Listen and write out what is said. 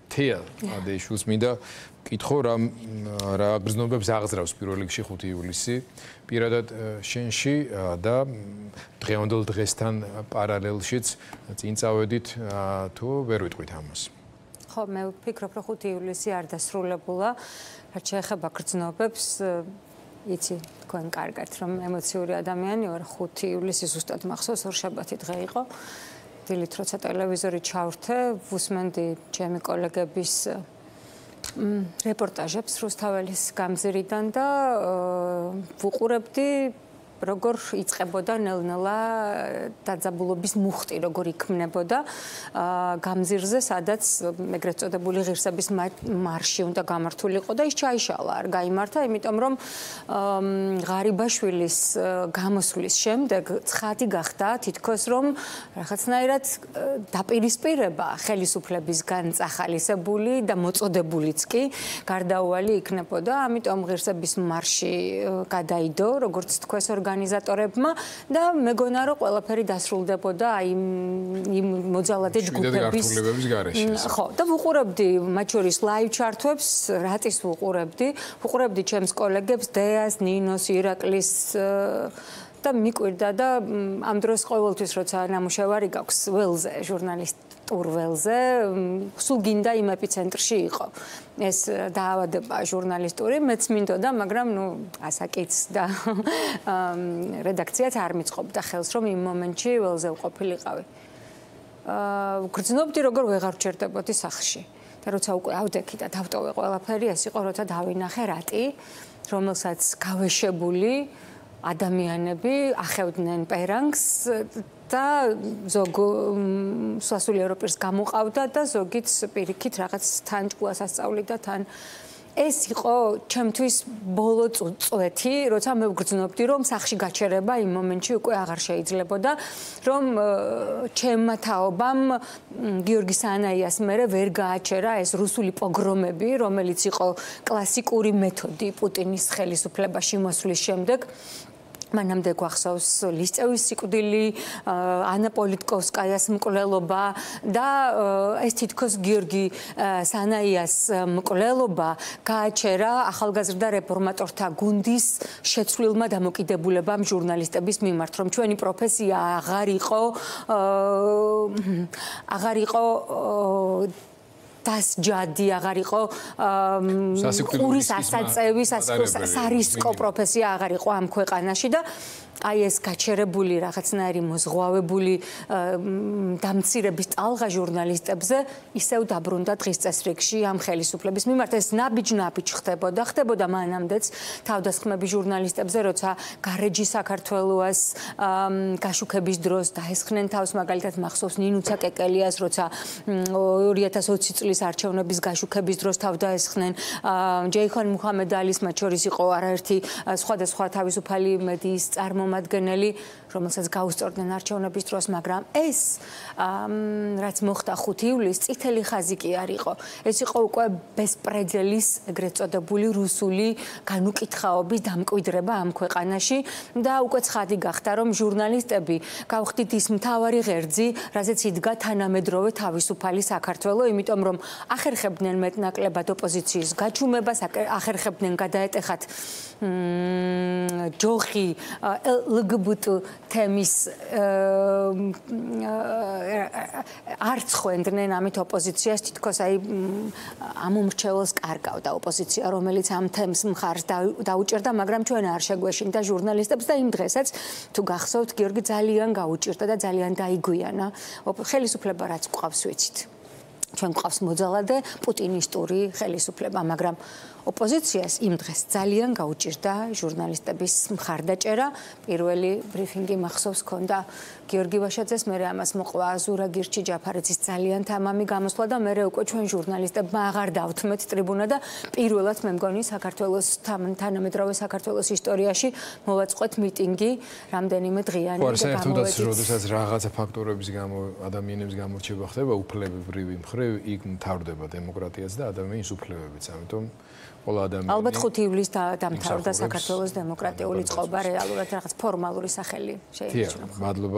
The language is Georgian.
თეა ადეიშვილს მინდა კითხო რა გრძნობებს აღძრავს პირველ რიგში 5 ივლისი პირადად შენში და დღევანდელ დღესთან პარალელშიც წინ წავედით თუ ვერ ვიტყვით ამას. ხო, მე ვფიქრობ, რომ 5 ივლისი არ დასრულებულა, რაც შეეხება გრძნობებს, იცი თქვენ კარგად, რომ ემოციური ადამიანი ვარ, 5 ივლისი ზუსტად მახსოვს, ორშაბათი დღე იყო. დილით როცა ტელევიზორი ჩავრთე, ვუსმენდი ჩემი კოლეგების რეპორტაჟებს რუსთაველის გამზირიდან და ვუყურებდი როგორ იწყებოდა ნელ-ნელა დაძაბულობის მუხტი, როგორ იქმნებოდა გამზირზე, სადაც ეგრეთ წოდებული ღირსების მარში უნდა გამართულიყო და ის ჩაიშალა, არ გაიმართა, იმიტომ რომ ღარიბაშვილის გამოსვლის შემდეგ ცხადი გახდა თითქოს რომ რაღაცნაირად დაპირისპირება ხელისუფლებისგან წახალისებული და მოწოდებულიც კი გარდაუვალი იქნებოდა, ამიტომ ღირსების მარში გადაიდო, როგორც თქვენს ორგანიზატორებმა და მეგონა რომ ყველაფერი დასრულდებოდა აი იმ მოძალადე ჯგუფების ხო და ვუყურებდი მათ შორის ლაივ ჩართვებს რატის ვუყურებდი ჩემს კოლეგებს დეას, ნინოს, ირაკლის და მიკვირდა და ამ დროს ყოველთვის როცა ნამუშევარი გაქვს ველზე ჟურნალისტურ ველზე სულ გინდა იმ ეპიცენტრში იყო ეს დაავადება ჟურნალისტური მეც მინდოდა მაგრამ ნუ ასაკიც და რედაქციაც არ მიწყობდა ხელს რომ იმ მომენტში ველზე ვყოფილიყავი გრძნობდი როგორ ვეღარ ვჩერდებოდი სახლში და როცა უკვე ავდექი და დავტოვე ყველაფერი ეს იყო როცა დავინახე რატი რომელსაც გავეშებული ადამიანები ახევდნენ პერანგს და ზოგ სასულიერო ევროპის გამოყავდა და ზოგიც პირიქით რაღაც თან ჭკუას ასწავლიდა თან ეს იყო ჩემთვის ბოლო წვეთი, როცა მე ვგრძნობდი, რომ სახლში გაჩერება იმ მომენტში უკვე აღარ შეიძლებოდა, რომ ჩემმა თაობამ გიორგი სანაიას მერე ვერ გააჩერა ეს რუსული პოგრომები, რომელიც იყო კლასიკური მეთოდი პუტინის ხელისუფლებაში მოსვლის შემდეგ. მანამდე გვახსოვს ლისწევის სიკვდილი, ანა პოლიტკოვსკაიას მკვლელობა და ეს თითქოს გიორგი სანაიას მკვლელობა გააჩერა ახალგაზრდა რეფორმატორთა გუნდის შეცვლილმა დამოკიდებულებამ ჟურნალისტების მიმართ, რომ ჩვენი პროფესია აღარ იყო დასჯადი აღარ იყო ყურის ასაწევი სარისკო პროფესია აღარ იყო ამ ქვეყანაში და აი ეს გაჩერებული რაღაცნაირი მოზღვავებული დამცირების ტალღა ჟურნალისტებზე ისევ დაბრუნდა დღის წესრიგში ამ ხელისუფლების მიმართ ეს ნაბიჯ ხდებოდა მანამდეც თავდასხმები ჟურნალისტებზე როცა გარეჯი საქართველოს გაშუქების დროს დაესხნენ თავს მაგალითად მახსოვს ნინუცა კეკელიას როცა 2020 წლის არჩევნების გაშუქების დროს თავდაესხნენ ჯეიხონ მუჰამედალის მათ შორის იყო არაერთი სხვადასხვა თავისუფალი მედიის წარმომადგენელი რომელსაც გაუსწორდნენ არჩევნების დროს, მაგრამ ეს რაც მოხდა 5 ივლისს წითელი ხაზი კი არ იყო. ეს იყო უკვე ბესპრედელის ეგრეთ წოდებული რუსული განუკითხაობის დამკვიდრება ამ ქვეყანაში და უკვე ცხადი გახდა, რომ ჟურნალისტები გავხდით ის მთავარი ღერძი, რაზეც იდგა თანამედროვე თავისუფალი საქართველო, იმიტომ რომ ახერხებდნენ მეტნაკლებად ოპოზიციის გაჩუმებას, ახერხებდნენ გადაეტეხათ ჯოხი LGBT თემის არცხვენდნენ ამით ოპოზიციას თითქოს აი ამომრჩეველს კარგავდა ოპოზიცია რომელიც ამ თემს მხარს დაუჭერდა მაგრამ ჩვენ არ შეგვეშინდა ჟურნალისტებს და იმ დღესაც თუ გახსოვთ გიორგი ძალიან გაუჭირდა და ძალიან დაიგვიანა ხელისუფლება რაც გვყავს ვიცით ჩვენ გვყავს მოძალადე პუტინისტური ხელისუფლება მაგრამ ოპოზიციას იმ დღეს ძალიან გაუჭირდა ჟურნალისტების მხარდაჭერა პირველი ბრიფინგი მახსოვს ქონდა გიორგი ვაშაძეს მე ამას მოყვა ზურა გირჩი ჯაფარიძის ძალიან თამამი გამოსვლა და მე უკვე ჩვენ ჟურნალისტებმა აღარ დავთმეთ ტრიბუნა და პირველად მე მგონი საქართველოს თანამედროვე საქართველოს ისტორიაში მოვაწყოთ მიტინგი რამდენიმე დღიანი და გამოვედით როდესაც რაღაცა ფაქტორების გამო ადამიანების გამორჩება ხდება უფლებებრივი მხრივ იქ მთავრდება დემოკრატიაც და ადამიანის უფლებებიც ამიტომ ალბათ 5 ივლისს დამთავრდა საქართველოს დემოკრატიული წყობა რეალურად რაღაც ფორმალური სახელი შეინიშნა.